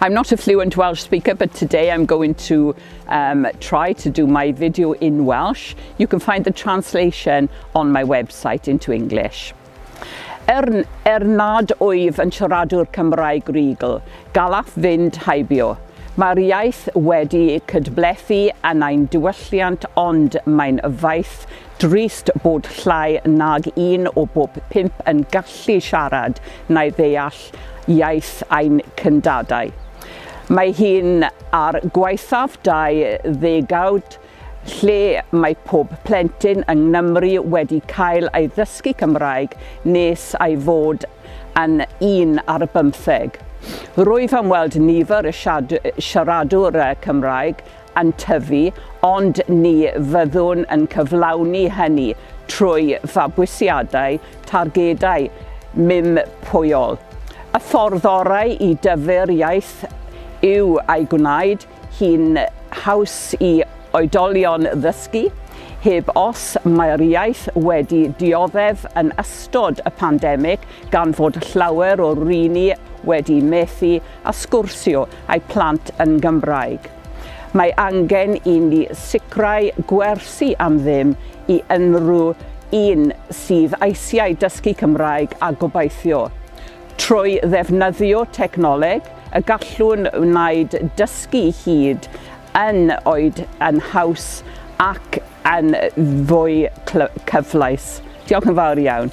I'm not a fluent Welsh speaker, but today I'm going to try to do my video in Welsh. You can find the translation on my website into English. Er nad wyf yn siaradwr Cymraeg rhugl, gallaf fynd heibio. Mae'r iaith wedi cydblethu yn ein diwylliant, ond mae'n ffaith drist bod llai nag un o bob pump yn gallu siarad neu ddeall iaith ein cyndadau. Mae hyn ar gwaethaf 2 ddegawd lle mae pob plentyn yng Nghymru wedi cael ei ddysgu Cymraeg nes ei fod yn 11. Rwyf am weld nifer y siaradwyr Cymraeg yn tyfu, ond ni fyddwn yn cyflawni hynny trwy fabwysiadu targedau mympwyol. Y ffordd orau i dyfu'r iaith yw ei gwneud hi'n haws i oedolion ddysgu. Heb os, mae'r iaith wedi dioddef yn ystod y pandemig gan fod llawer o rieni wedi methu a sgwrsio â'u plant yn Gymraeg. Mae angen i ni sicrhau gwersi am ddim i unrhyw un sydd eisiau dysgu Cymraeg a gobeithio, trwy ddefnyddio technoleg, y gallwn wneud dysgu hyd yn oed yn haws ac yn fwy cyfleus. Diolch yn fawr iawn.